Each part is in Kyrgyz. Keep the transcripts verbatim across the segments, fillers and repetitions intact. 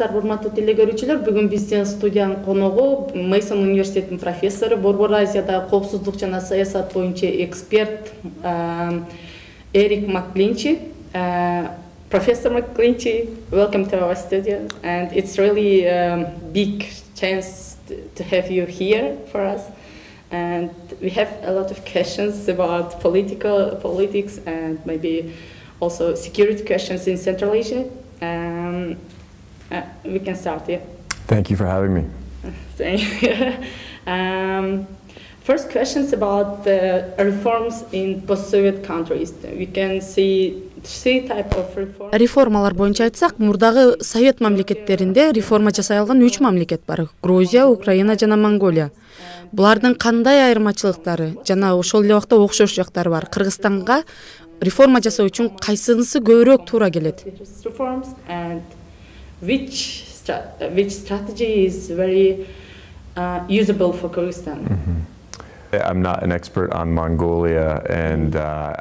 саламатсыздарбы, урматтуу теле көрүүчүлөр. Бүгүн биздин студиянын коногу Мейсон университетинин профессору, Борбор Азияда коопсуздук жана саясат боюнча эксперт Эрик Макклинчи. Professor Macklинчи, welcome to our studio, and it's really a big chance to have you here for us. And we have a lot of questions about political politics and maybe also security questions in Central Asia. Um, uh, we can start, yeah. Thank you for having me. Thank you. um, first questions about the reforms in post-Soviet countries. We can see three type of reforms. Реформалар боюнча айтсак, мурдагы Совет мамлекеттеринде реформа жасай алган үч мамлекет бар: Грузия, Украина жана Монголия. Булардын кандай айырмачылыктары жана ошол эле убакта окшош жактары бар? Кыргызстанга реформа жасоо үчүн кайсынысы көбүрөөк туура келет? Which which strategy is very uh, usable for Kyrgyzstan? Mm-hmm. I'm not an expert on Mongolia and uh,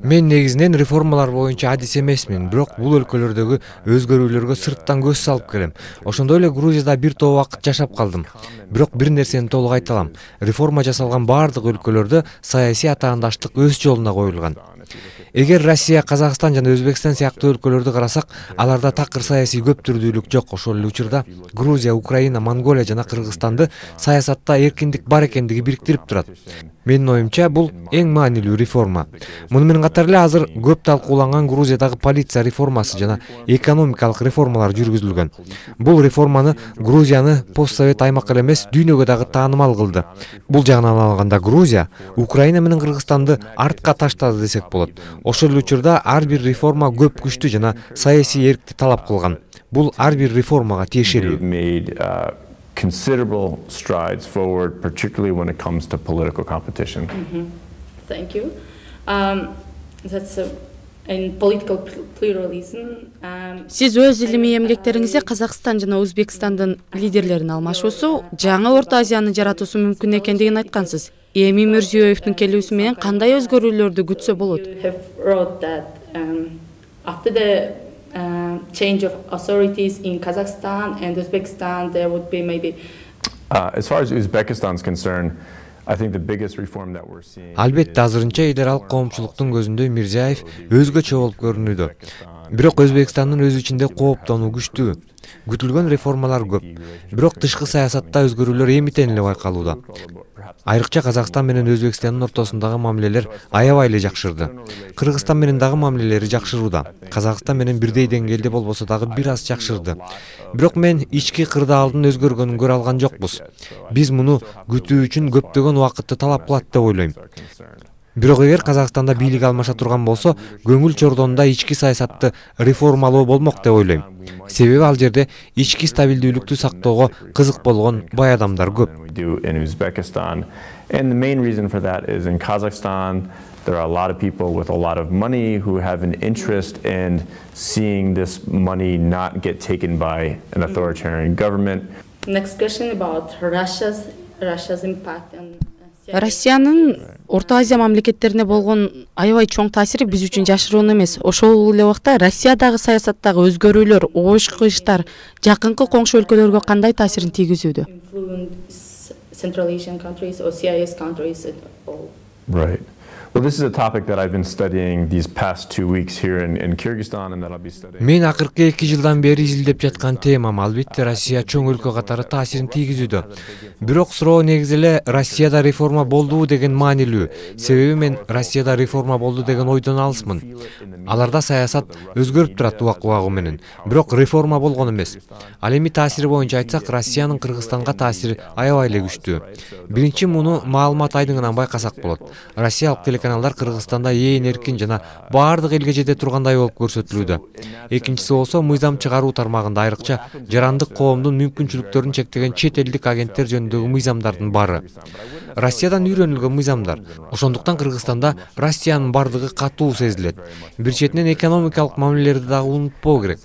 Мен негизинен реформалар боюнча адис эмесмин, бирок бул өлкөлөрдөгү өзгөрүүлөргө сырттан көз салып келем. Ошондой эле Грузияда бир топ убакыт жашап калдым. Бирок бир нерсени толук айта алам. Реформа жасалган бардык өлкөлөрдө саясий атаандаштык өз жолуна коюлган. Эгер Россия, Казакстан жана Өзбекстан сыяктуу өлкөлөрдү карасак, аларда такыр саясий көптүрдүүлүк жок. Ошол эле учурда Грузия, Украина, Монголия жана Кыргызстанды саясатта эркиндик бар экендиги бириктирип турат. Менин оюмча, бул эң маанилүү реформа. Муну менен катар эле азыр көп талкууланган Грузиядагы полиция реформасы жана экономикалык реформалар жүргүзүлгөн. Бул реформаны Грузияны постсовет аймак эле эмес, дүйнөгө дагы таанымал кылды. Бул жагынан алганда Грузия, Украина менен Кыргызстанды артка таштады десек болот. Ошол эле учурда ар бир реформа көп күчтүү жана саясий эркти талап кылган. Бул ар бир реформага тиешелүү. Considerable strides forward, particularly when it comes to political competition. Mm-hmm. Thank you. Um, that's a, in political pluralism. Um, Сиз өз илимий эмгектериңизде Казакстан жана Өзбекстандын лидерлерин алмашуусу жаңы Орто Азияны жаратуусу мүмкүн экендигин айткансыз. Эми Мирзиёевдун келүүсү менен кандай өзгөрүүлөрдү күтсө болот? Uh, change of authorities in Kazakhstan and Uzbekistan, there would be maybe. Uh, as far as Uzbekistan is concerned, I think the biggest reform that we're seeing. Албетте азырынча эл аралык коомчулуктун көзүндө Мирзиёев өзгөчө болуп көрүнүүдө. Бирок Өзбекстандын өз ичинде кооптонуу күчтүү. Күтүлгөн реформалар көп. Бирок тышкы саясатта өзгөрүүлөр эмитен эле байкалууда. Айрыкча Казакстан менен Өзбекстандын ортосундагы мамилелер аябай эле жакшырды. Кыргызстан менен дагы мамилелери жакшырууда. Казакстан менен бирдей деңгээлде болбосо дагы бир аз жакшырды. Бирок мен ички кырдаалдын өзгөргөнүн көрө алган жокпуз. Биз муну күтүү үчүн көптөгөн убакытты талап кылат деп ойлойм. Бирок эгер Казакстанда бийлик алмаша турган болсо, көңүл чордонунда ички саясатты реформалоо болмок деп ойлойм. Себеби ал жерде ички стабилдүүлүктү сактоого кызык болгон бай адамдар көп. And the main reason for that is in Kazakhstan, there are a lot of people with a lot of money who have an interest in seeing this money not get taken by an authoritarian government. Next question about Russia's Russia's impact on Россиянын Орто Азия мамлекеттерине болгон аябай чоң таасири биз үчүн жашыруун эмес. Ошол эле убакта Россиядагы саясаттагы өзгөрүүлөр, оош-кыйыштар жакынкы коңшу өлкөлөргө кандай таасирин тийгизүүдө? Central Asian countries or C I S countries at all. Right. Well, this is a topic that I've been studying these past two weeks here in, in Kyrgyzstan and that I'll be studying. Мен акыркы эки жылдан бери изилдеп жаткан темам албетте Россия чоң өлкө катары таасирин тийгизүүдө. Бирок суроо негизи эле Россияда реформа болдубу деген маанилүү. Себеби мен Россияда реформа болду деген ойдон алысмын. Аларда саясат өзгөрүп турат убак-убагы менен. Бирок реформа болгон эмес. Ал эми таасири боюнча айтсак, Россиянын Кыргызстанга таасири аябай эле күчтүү. Биринчи муну маалымат айдыңынан байкасак болот. Россиялык телеканалдар Кыргызстанда ээн эркин жана баардык элге жете тургандай болуп көрсөтүлүүдө. Экинчиси болсо мыйзам чыгаруу тармагында айрыкча жарандык коомдун мүмкүнчүлүктөрүн чектеген чет элдик агенттер жөнүндөгү мыйзамдардын бары. Россиядан үйрөнүлгөн мыйзамдар. Ошондуктан Кыргызстанда Россиянын бардыгы катуу сезилет. Бир четинен экономикалык мамилелерди дагы унутпоо керек.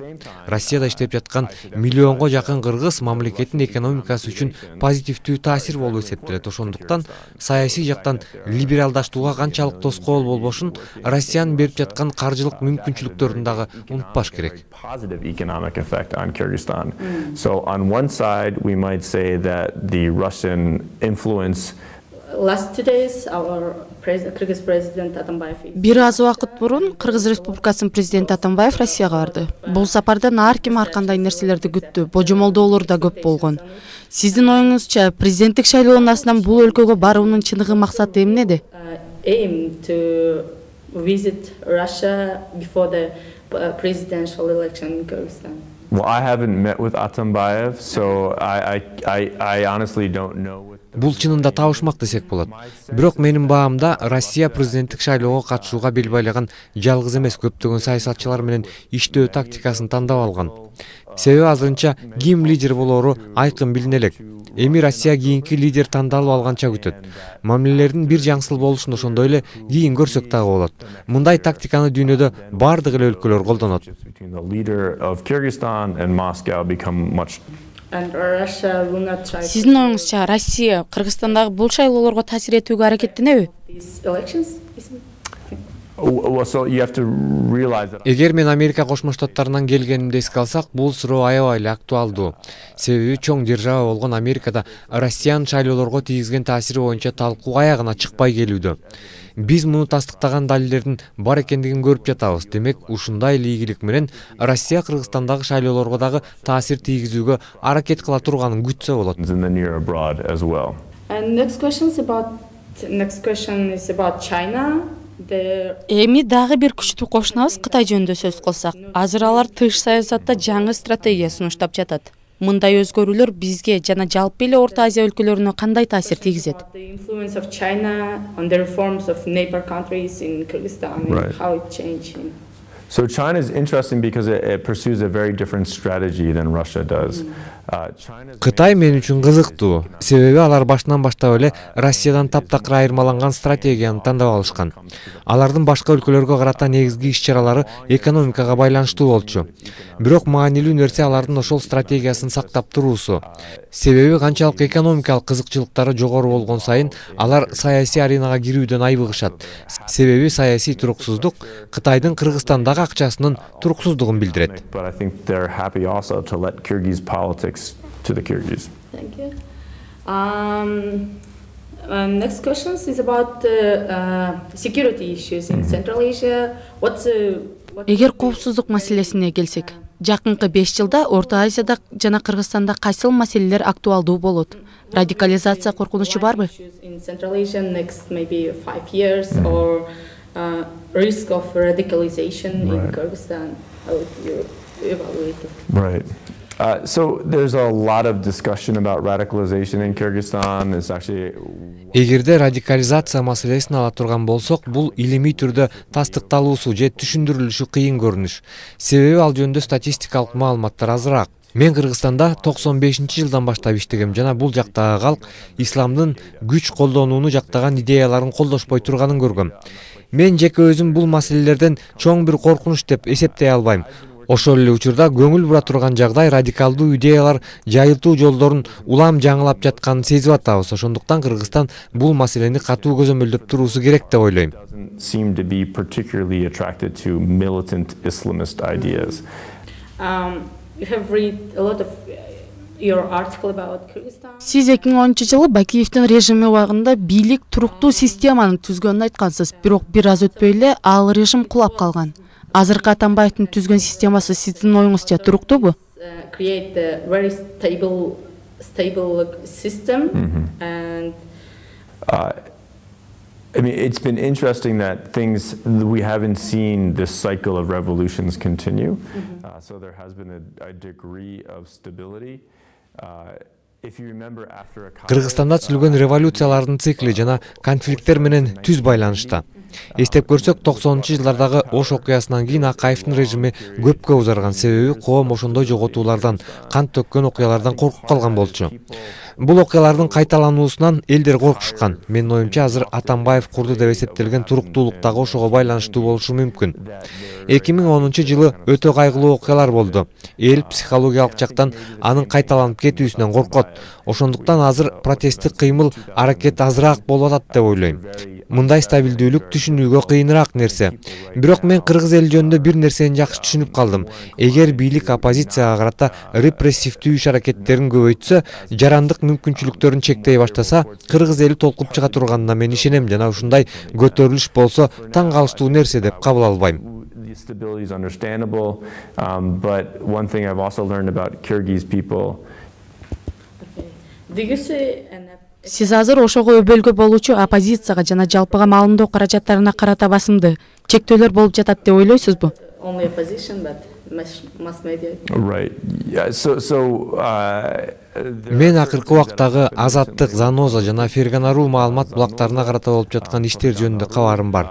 Россияда иштеп жаткан миллионго жакын кыргыз мамлекеттин экономикасы үчүн позитивдүү таасир болуп эсептелет. Ошондуктан саясий жактан либералдаштууга канчалык экономикалык тоскоол болбошун Россиянын берип жаткан каржылык мүмкүнчүлүктөрүн дагы унутпаш керек. Positive economic effect on Kyrgyzstan. So on one side, we might say that the Russian influence Last two days, our president, Kyrgyz president Atambayev. Бир аз убакыт мурун Кыргыз Республикасынын президенти Атамбаев Россияга барды. Бул сапардан ар ким ар кандай нерселерди күттү, божомолдоолор да көп болгон. Сиздин оюңузча, президенттик шайлоонун астынан бул өлкөгө баруунун чыныгы максаты эмнеде? Aim to visit Russia before the presidential election in Kyrgyzstan. Well, I haven't met with Atambayev, so I, I, I, I honestly don't know. Бул чынында табышмак десек болот. Бирок менин баамда Россия президенттик шайлоого катышууга бел байлаган жалгыз эмес, көптөгөн саясатчылар менен иштөө тактикасын тандап алган. Себеби азырынча ким лидер болоору айкын билине элек. Эми Россия кийинки лидер тандалып алганча күтөт. Мамилелердин бир жаңсыл болушун ошондой эле кийин көрсөк дагы болот. Мындай тактиканы дүйнөдө бардык эле өлкөлөр колдонот. Сиздин оюңузча, Россия Кыргызстандагы бул шайлоолорго таасир этүүгө аракеттенеби? Эгер мен Америка Кошмо Штаттарынан келгенимди эске алсак, бул суроо аябай эле актуалдуу. Себеби чоң держава болгон Америкада Россиянын шайлоолорго тийгизген таасири боюнча талкуу аягына чыкпай келүүдө. Биз муну тастыктаган далилдердин бар экендигин көрүп жатабыз. Демек, ушундай эле ийгилик менен Россия Кыргызстандагы шайлоолорго дагы таасир тийгизүүгө аракет кыла турганын күтсө болот. And next question is about next question is about China. Эми дагы бир күчтүү кошунабыз Кытай жөнүндө сөз кылсак. Азыр алар тыш саясатта жаңы стратегия сунуштап жатат. Мындай өзгөрүүлөр бизге жана жалпы эле Орто Азия өлкөлөрүнө кандай таасир тийгизет? So China is interesting because it, it pursues a very different strategy than Russia does. Кытай мен үчүн кызыктуу. Себеби алар башынан баштап эле Россиядан таптакыр айырмаланган стратегияны тандап алышкан. Алардын башка өлкөлөргө карата негизги иш-чаралары экономикага байланыштуу болчу. Бирок маанилүү нерсе алардын ошол стратегиясын сактап туруусу. Себеби канчалык экономикалык кызыкчылыктары жогору болгон сайын алар саясий аренага кирүүдөн айбыгышат. Себеби саясий туруксуздук Кытайдын Кыргызстандагы акчасынын туруксуздугун билдирет. But I think they're happy also to let Kyrgyz politics to the Kyrgyz. Thank you. Um, um, next question is about uh, uh, security issues in Central Asia. What's uh, what Эгер коопсуздук маселесине келсек, жакынкы беш жылда Орто Азияда жана Кыргызстанда кайсыл маселелер актуалдуу болот? Радикализация коркунучу барбы? In Central Asia next maybe five years or uh, risk of radicalization in Kyrgyzstan? How would you evaluate it? Right. Uh, so there's a lot of discussion about radicalization in Kyrgyzstan. It's actually Эгерде радикализация маселесин ала турган болсок, бул илимий түрдө тастыкталуусу же түшүндүрүлүшү кыйын көрүнүш. Себеби ал жөнүндө статистикалык маалыматтар азыраак. Мен Кыргызстанда токсон бешинчи жылдан баштап иштегем жана бул жактагы калк исламдын күч колдонууну жактаган идеяларын колдошпой турганын көргөм. Мен жеке өзүм бул маселелерден чоң бир коркунуч деп эсептей албайм. Ошол эле учурда көңүл бура турган жагдай радикалдуу идеялар жайылтуу жолдорун улам жаңылап жатканын сезип атабыз. Ошондуктан Кыргызстан бул маселени катуу көзөмөлдөп туруусу керек деп ойлойм. seem to be particularly attracted to militant Islamist ideas. Um, you have read a lot of your article about Kyrgyzstan. Сиз эки миң онунчу жылы Бакиевдин режими убагында бийлик туруктуу системаны түзгөнүн айткансыз, бирок бир аз өтпөй эле ал режим кулап калган. Азыркы Атамбаевдин түзгөн системасы сиздин оюңузча туруктуубу? Create a very stable, stable system, and Uh, I mean, it's been interesting that things, we haven't seen this cycle of revolutions continue. Uh, so there has been a, a degree of stability. Uh, if you remember after a Кыргызстанда түзүлгөн революциялардын цикли жана конфликттер менен түз байланышта. Эстеп көрсөк, токсонунчу жылдардагы Ош окуясынан кийин Акаевдин режими көпкө узарган, себеби коом ошондой жоготуулардан, кан төккөн окуялардан коркуп калган болчу. Бул окуялардын кайталануусунан элдер коркушкан. Менин оюмча, азыр Атамбаев курду деп эсептелген туруктуулук дагы ошого байланыштуу болушу мүмкүн. эки миң онунчу жылы өтө кайгылуу окуялар болду. Эл психологиялык жактан анын кайталанып кетүүсүнөн коркот. Ошондуктан азыр протесттик кыймыл аракет азыраак болуп атат деп ойлойм. Мындай стабилдүүлүк түшүнүүгө кыйыныраак нерсе. Бирок мен кыргыз эли жөнүндө бир нерсени жакшы түшүнүп калдым. Эгер бийлик оппозицияга карата репрессивдүү иш аракеттерин көбөйтсө, жарандык мүмкүнчүлүктөрүн чектей баштаса, кыргыз эли толкуп чыга турганына мен ишенем жана ушундай көтөрүлүш болсо таң калыштуу нерсе деп кабыл албайм. The stability is understandable, um, but one thing I've also learned about Kyrgyz people. Сиз азыр ошого өбөлгө болуучу оппозицияга жана жалпыга маалымдоо каражаттарына карата басымды чектөөлөр болуп жатат деп ойлойсузбу? Only opposition, but mass media. Right. Yeah. So, so. Uh, Мен акыркы убактагы Азаттык, Заноза жана Ферганару маалымат булактарына карата болуп жаткан иштер жөнүндө кабарым бар.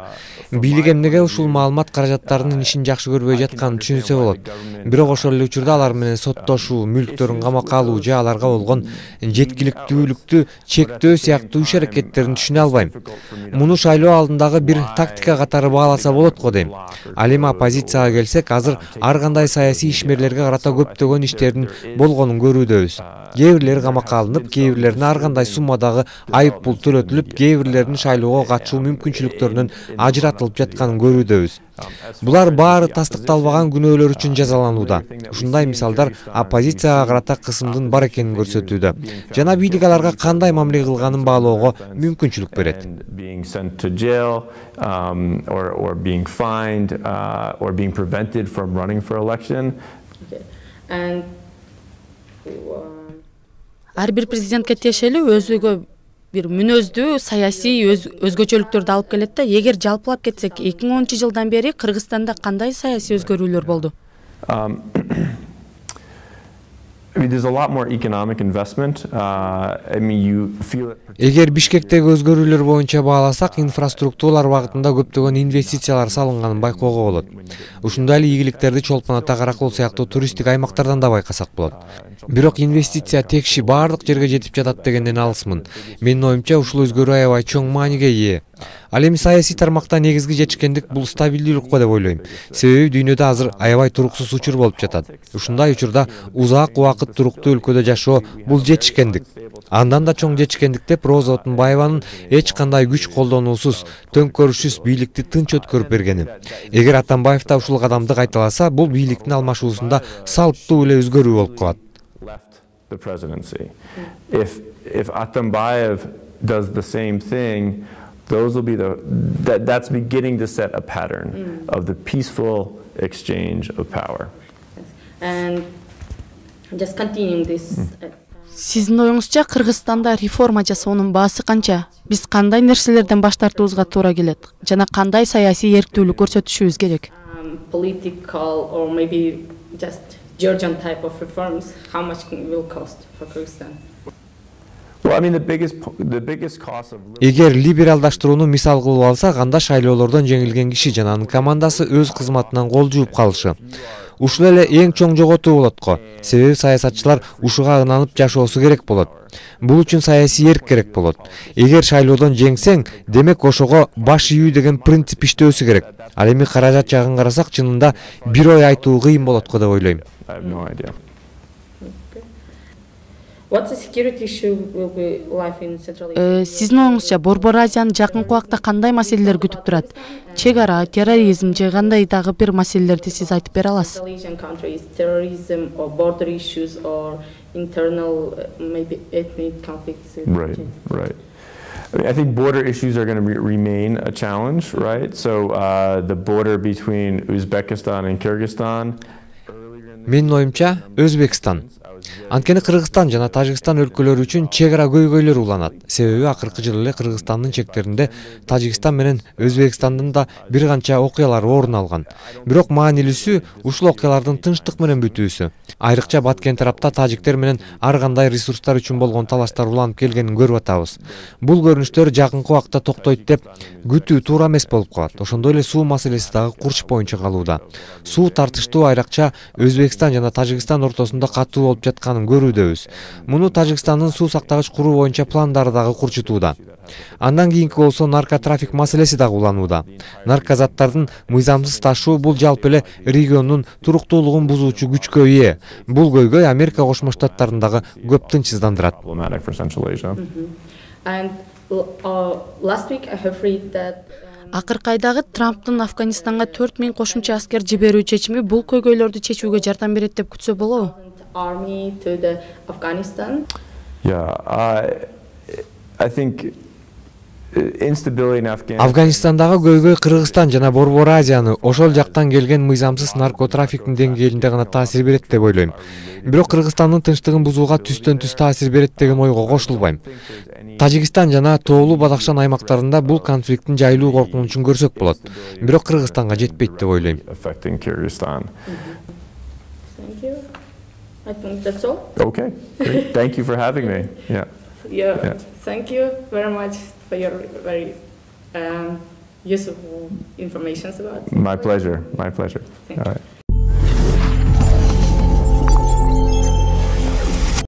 Бийлик эмнеге ушул маалымат каражаттарынын ишин жакшы көрбөй жатканын түшүнсө болот. Бирок ошол эле учурда алар менен соттошуу, мүлктөрүн камакка алуу же аларга болгон жеткиликтүүлүктү чектөө сыяктуу иш аракеттерин түшүнө албайм. Муну шайлоо алдындагы бир тактика катары бааласа болот го дейм. Ал эми оппозицияга келсек, азыр ар кандай саясий ишмерлерге карата көптөгөн иштердин болгонун көрүүдөбүз. Кээ бирлери камакка алынып, кээ бирлерине ар кандай суммадагы айып пул төлөтүлүп, кээ бирлеринин шайлоого катышуу мүмкүнчүлүктөрүнөн ажыратылып жатканын көрүүдөбүз. Булар баары тастыкталбаган күнөөлөр үчүн жазаланууда. Ушундай мисалдар оппозицияга карата кысымдын бар экенин көрсөтүүдө. Жана бийлик аларга кандай мамиле кылганын баалоого мүмкүнчүлүк берет. Being sent to jail, um, or, or being fined, uh, or being prevented from running for election. Okay. And Ар бир президентке тиешелүү өзүгө бир мүнөздүү саясий өз, өзгөчөлүктөрдү алып келет да. Эгер жалпылап кетсек, эки миң онунчу жылдан бери Кыргызстанда кандай саясий өзгөрүүлөр болду? Um, I mean, there's a lot more economic investment. Uh, I mean, you feel it. Эгер Бишкектеги өзгөрүүлөр боюнча бааласак, инфраструктуралар багытында көптөгөн инвестициялар салынганын байкоого болот. Ушундай эле ийгиликтерди Чолпон Ата, Каракол сыяктуу туристтик аймактардан да байкасак болот. Бирок инвестиция текши баардык жерге жетип жатат дегенден алысмын. Менин оюмча ушул өзгөрүү аябай чоң мааниге ээ. Ал эми саясий тармакта негизги жетишкендик бул стабилдүүлүк го деп ойлойм. Себеби дүйнөдө азыр аябай туруксуз учур болуп жатат. Ушундай учурда узак убакыт туруктуу өлкөдө жашоо бул жетишкендик. Андан да чоң жетишкендик деп Роза Отунбаеванын эч кандай күч колдонуусуз, төңкөрүшсүз бийликти тынч өткөрүп бергени. Эгер Атамбаев да ушул кадамды кайталаса, бул бийликтин алмашуусунда салыптуу эле өзгөрүү болуп калат. The presidency. If if Atambayev does the same thing, those will be the that that's beginning to set a pattern mm. of the peaceful exchange of power. And just continuing this. Mm. Сиздин оюңузча Кыргызстанда реформа жасоонун баасы канча? Биз кандай нерселерден баш тартуубузга туура келет? Жана кандай саясий эрктүүлүк көрсөтүшүбүз керек? Um, political or maybe just Georgian type of reforms, how much will cost for Kyrgyzstan? Well, I mean, the biggest the biggest cost of Эгер либералдаштырууну мисал кылып алсак, анда шайлоолордон жеңилген киши жана анын командасы өз кызматынан кол жууп калышы. Ушул эле эң чоң жоготуу болот го. Себеби саясатчылар ушуга ынанып жашоосу керек болот. Бул үчүн саясий эрк керек болот. Эгер шайлоодон жеңсең, демек ошого баш ийүү деген принцип иштөөсү керек. Ал эми каражат жагын карасак, чынында бир ой айтуу кыйын болот го деп ойлойм. I have no idea. What the security issue will be life in Central Asia? Сиздин оюңузча Борбор Азиянын жакынкы убакта кандай маселелер күтүп турат? Чек ара, терроризм же кандай дагы бир маселелерди сиз айтып бере аласыз? Central Asian countries, terrorism or border issues or internal maybe ethnic conflicts. Right, right. I mean, I think border issues are going to re remain a challenge, right? So uh, the border between Uzbekistan and Kyrgyzstan. Менин оюмча, Өзбекстан. Анткени Кыргызстан жана Тажикстан өлкөлөрү үчүн чек ара көйгөйлөр уланат. Себеби акыркы жылы эле Кыргызстандын чектеринде Тажикстан менен Өзбекстандын да бир канча окуялар орун алган. Бирок маанилүүсү ушул окуялардын тынчтык менен бүтүүсү. Айрыкча Баткен тарапта тажиктер менен ар кандай ресурстар үчүн болгон талаштар уланып келгенин көрүп атабыз. Бул көрүнүштөр жакынкы убакта токтойт деп күтүү туура эмес болуп калат. Ошондой эле суу маселеси дагы курч боюнча калууда. Суу тартыштуу айрыкча Өзбекстан жана Тажикстан ортосунда катуу болуп жатканын көрүүдөбүз. Муну Тажикстандын суу сактагыч куруу боюнча пландары дагы курчутууда. Андан кийинки болсо наркотрафик маселеси дагы уланууда. Наркозаттардын мыйзамсыз ташуу бул жалпы эле региондун туруктуулугун бузуучу күчкө ээ. Бул көйгөй Америка Кошмо Штаттарындагы көп тынчсыздандырат. And uh, last week I have read that Акыркы айдагы Трамптын Афганистанга төрт миң кошумча аскер жиберүү чечими бул көйгөйлөрдү чечүүгө жардам берет деп күтсө болобу? Army to the Afghanistan. Yeah, I, I think instability in Afghanistan. Афганистандагы көйгөй Кыргызстан жана Борбор Азияны ошол жактан келген мыйзамсыз наркотрафиктин деңгээлинде гана таасир берет деп ойлойм. Бирок Кыргызстандын тынчтыгын бузууга түстөн түз таасир берет деген ойго кошулбайм. Тажикстан жана Тоолуу Бадахшан аймактарында бул конфликттин жайылуу коркунучун көрсөк болот. Бирок Кыргызстанга жетпейт деп ойлойм. Thank you. I think that's all. Okay, great. Thank you for having me. Yeah. Yeah. Yeah. Thank you very much for your very um, useful information about. My pleasure. My pleasure. Thank All you. right.